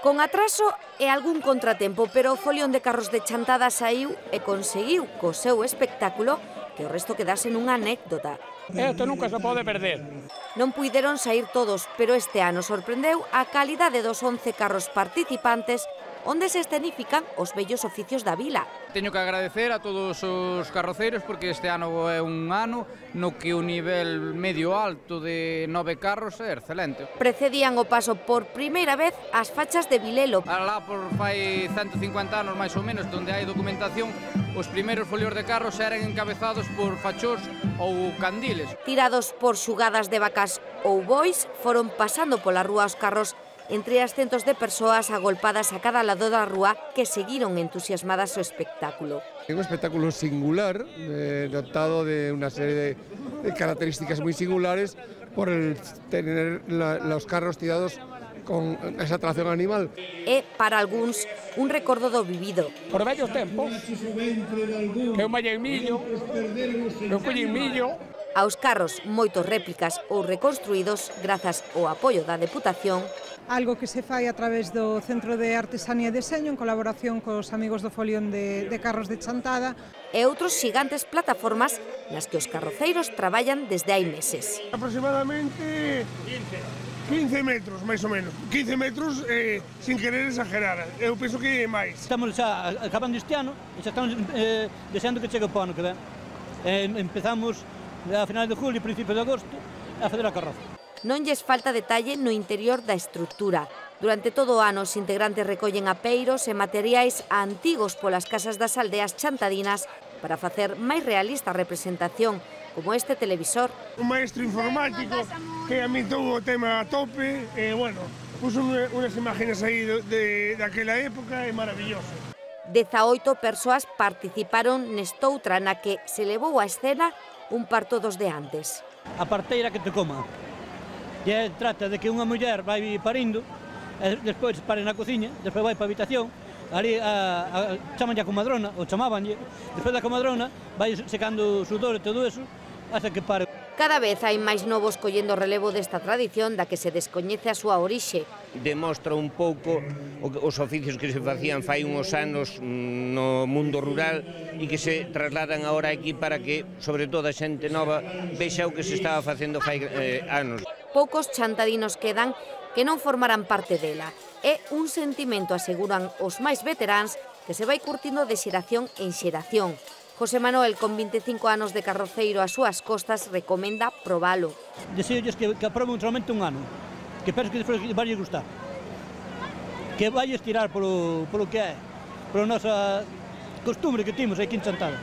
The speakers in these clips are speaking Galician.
Con atraso e algún contratempo, pero o folión de carros de Chantada saiu e conseguiu co seu espectáculo que o resto quedase nunha anécdota. Isto nunca se pode perder. Non puideron saír todos, pero este ano sorprendeu a calidade dos 11 carros participantes onde se escenifican os vellos oficios da vila. Teño que agradecer a todos os carroceiros porque este ano é un ano no que o nivel medio alto de 9 carros é excelente. Precedían o paso por primeira vez as fachas de Vilelo. Alá por fai 150 anos máis ou menos, onde hai documentación, os primeiros folios de carros eran encabezados por fachós ou candiles. Tirados por xugadas de vacas ou bois, foron pasando pola rúa os carros entre as centos de persoas agolpadas a cada lado da rúa que seguiron entusiasmadas o espectáculo. É un espectáculo singular, dotado de unha serie de características moi singulares por el tener los carros tirados con esa tracción animal. É, para algúns, un recordo do vivido. Por vellos tempos, que eu mallei millo, eu collín millo. Aos carros, moitos réplicas ou reconstruídos grazas ao apoio da Deputación. Algo que se fai a través do Centro de Artesanía e Deseño en colaboración cos amigos do folión de carros de Chantada. E outros xigantes plataformas nas que os carroceiros traballan desde hai meses. Aproximadamente 15 metros, máis ou menos. 15 metros, sin querer exagerar. Eu penso que é máis. Estamos xa acabando este ano e xa estamos deseando que chegue o ano que ven. Empezamos a finales de julio e principios de agosto a fazer a carroza. Non lles falta detalle no interior da estrutura. Durante todo o ano, os integrantes recollen apeiros e materiais antigos polas casas das aldeas chantadinas para facer máis realista a representación, como este televisor. Un maestro informático que amitou o tema a tope e, bueno, puso unhas imágenes aí daquela época, é maravilloso. 18 persoas participaron nestoutra na que se levou a escena un parto dos de antes. A parteira que te coma. E trata de que unha muller vai parindo, e despois pare na cociña, despois vai para a habitación, ali chamanlle a comadrona, ou chamabanlle, despois da comadrona vai secando o sudor e todo eso, hasta que pare. Cada vez hai máis novos collendo o relevo desta tradición da que se descoñece a súa orixe. Demostra un pouco os oficios que se facían fai uns anos no mundo rural e que se trasladan agora aquí para que, sobre todo, a xente nova vexa o que se estaba facendo fai anos. Poucos chantadinos quedan que non formarán parte dela. É un sentimento, aseguran os máis veteráns, que se vai curtindo de xeración en xeración. José Manuel, con 25 anos de carroceiro ás súas costas, recomenda probalo. Deseolles que aproben solamente un ano, que penso que despois vai gustar. Que vai estirar polo que é, pola nosa costumbre que temos aquí en Chantada.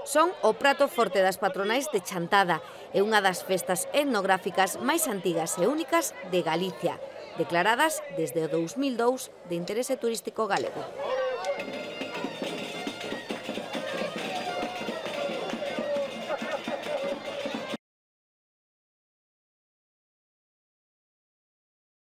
Son o prato forte das patronais de Chantada e unha das festas etnográficas máis antigas e únicas de Galicia, declaradas desde o 2002 de interese turístico galego.